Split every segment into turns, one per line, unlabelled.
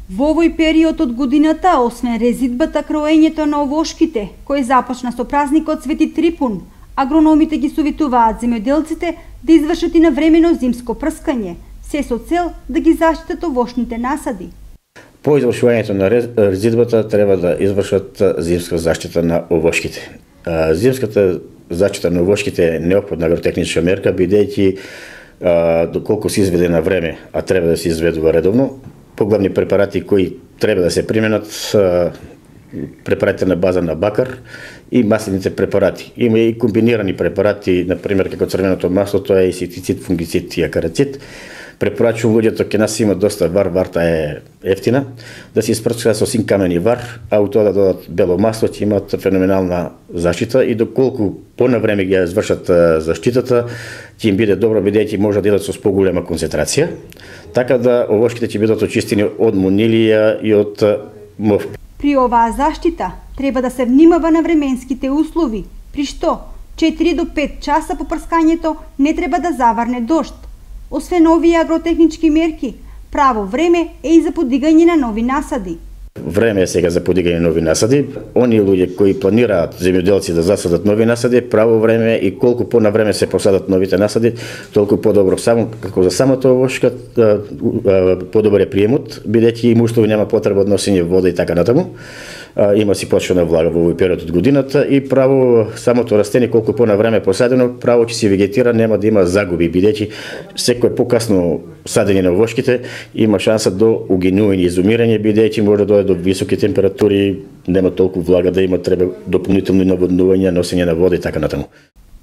Во овој период од годината, освен резидбата, кроењето на овошките, кој започна со празникот Свети Трипун, агрономите ги советуваат земјоделците да извршат и навремено зимско прскање, се со цел да ги заштитат овошните насади.
По извршувањето на резидбата треба да извршат зимска заштита на овошките. Зимската заштита на овошките е неопходна агротехничка мерка, бидејќи доколку се изведе на време, а треба да се изведува редовно, поглавни препарати кои треба да се применат, препаратите на база на бакар и маслените препарати. Има и комбинирани препарати, например како црвеното масло, тоа е инсектицид, фунгицид и акарацид. Препорачувам луѓето, ке нас има доста вар, варта е ефтина, да се испрскаат со син камен и вар, а у тоа да додат бело масло, ќе имат феноменална заштита и доколку понавреме ги извршат заштитата, ќе им биде добро, бидејќи може да идат со поголема концентрација, така да овошките ќе бидат очистени од монилија и од мов.
При оваа заштита треба да се внимава на временските услови, при што 4 до 5 часа по прскањето не треба да заварне дожд. Освен овие агротехнички мерки, право време е и за подигање на нови насади.
Време е сега за подигање на нови насади. Они луѓе кои планираат, земјоделци, да засадат нови насади, право време и колку понавреме се посадат новите насади, толку подобро. Само како за самата овошка, подобар е приемот, бидејќи имуштови нема потреба од носење вода и така натаму. Има си почвена влага во овој период од годината и право самото растение колку понавреме посадено, право ќе се вегетира, нема да има загуби, бидејќи секој покасно садење на овошките има шанса до угинување и изумирање, бидејќи може да дојде до високи температури, нема толку влага да има, треба дополнително наводнување, носење на вода и така натаму.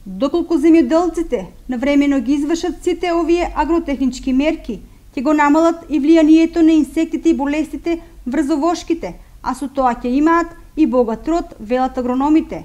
Доколку земјоделците навремено ги извршат сите овие агротехнички мерки, ќе го намалат и влијанието на инсектите и болестите врз овошките, а со тоа ќе имаат и богат род, велат агрономите.